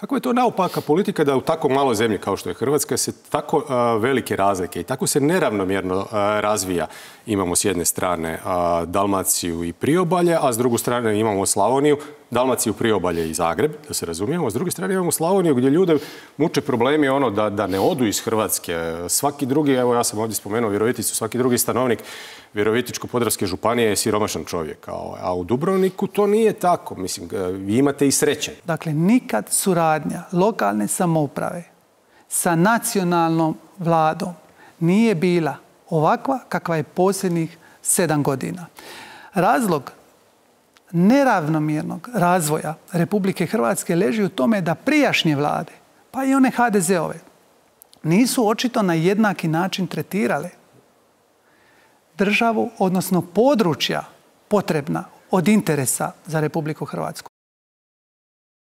Kako je to naopaka politika da u tako maloj zemlji kao što je Hrvatska se tako velike razlike i tako se neravnomjerno razvija. Imamo s jedne strane Dalmaciju i Priobalje, a s druge strane imamo Slavoniju, Dalmaciju, Priobalje i Zagreb, da se razumijemo. S druge strane imamo Slavoniju gdje ljude muče problemi da ne odu iz Hrvatske. Svaki drugi, evo ja sam ovdje spomenuo Viroviticu, svaki drugi stanovnik Virovitičko-podravske županije je siromašan čovjek. A u Dubrovniku to nije tako. Mislim, vi imate i sreće. Dakle, nikad suradnja lokalne samouprave sa nacionalnom vladom nije bila ovakva kakva je posljednjih 7 godina. Razlog neravnomjernog razvoja Republike Hrvatske leži u tome da prijašnje vlade, pa i one HDZ-ove, nisu očito na jednaki način tretirale državu, odnosno područja potrebna od interesa za Republiku Hrvatsku.